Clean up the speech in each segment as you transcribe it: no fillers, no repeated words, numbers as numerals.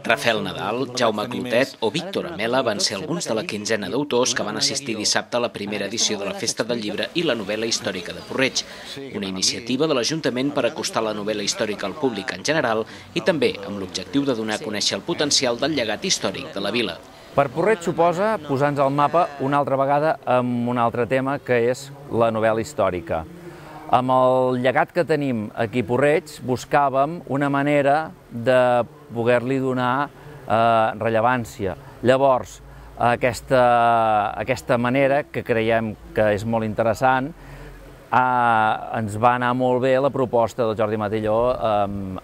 Rafael Nadal, Jaume Clotet o Víctor Amela van ser alguns de la quinzena d'autors que van assistir dissabte a la primera edició de la Festa del Llibre i la novel·la històrica de Puig-reig, una iniciativa de l'Ajuntament per acostar la novel·la històrica al públic en general i també amb l'objectiu de donar a conèixer el potencial del llegat històric de la vila. Per Puig-reig suposa posar-nos al mapa una altra vegada amb un altre tema que és la novel·la històrica. Amb el llegat que tenim aquí a Puig-reig buscàvem una manera de poder-li donar rellevància. Llavors, aquesta manera, que creiem que és molt interessant, ens va anar molt bé la proposta del Jordi Matilló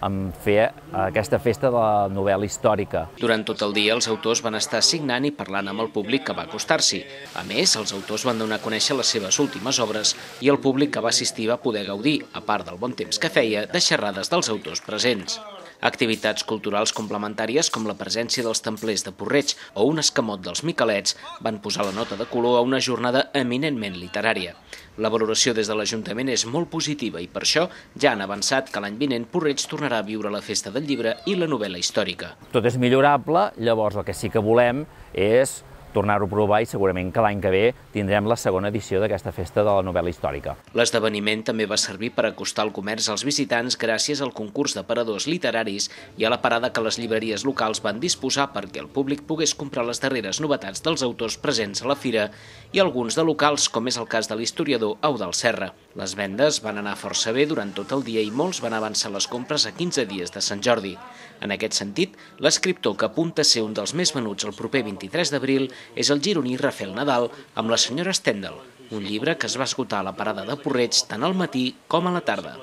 en fer aquesta festa de la novel·la històrica. Durant tot el dia els autors van estar signant i parlant amb el públic que va acostar-s'hi. A més, els autors van donar a conèixer les seves últimes obres i el públic que va assistir va poder gaudir, a part del bon temps que feia, de xerrades dels autors presents. Activitats culturals complementàries com la presència dels templers de Puig-reig o un escamot dels Miquelets van posar la nota de color a una jornada eminentment literària. La valoració des de l'Ajuntament és molt positiva i per això ja han avançat que l'any vinent Puig-reig tornarà a viure la Festa del Llibre i la novel·la històrica. Tot és millorable, llavors el que sí que volem és tornar-ho a provar i segurament que l'any que ve tindrem la segona edició d'aquesta festa de la novel·la històrica. L'esdeveniment també va servir per acostar el comerç als visitants gràcies al concurs d'aparadors literaris i a la parada que les llibreries locals van disposar perquè el públic pogués comprar les darreres novetats dels autors presents a la fira i alguns de locals, com és el cas de l'historiador Eudald Serra. Les vendes van anar força bé durant tot el dia i molts van avançar les compres a 15 dies de Sant Jordi. En aquest sentit, l'escriptor que apunta a ser un dels més venuts el proper 23 d'abril és el gironí Rafael Nadal amb La senyora Stendhal, un llibre que es va esgotar a la parada de Puig-reig tant al matí com a la tarda.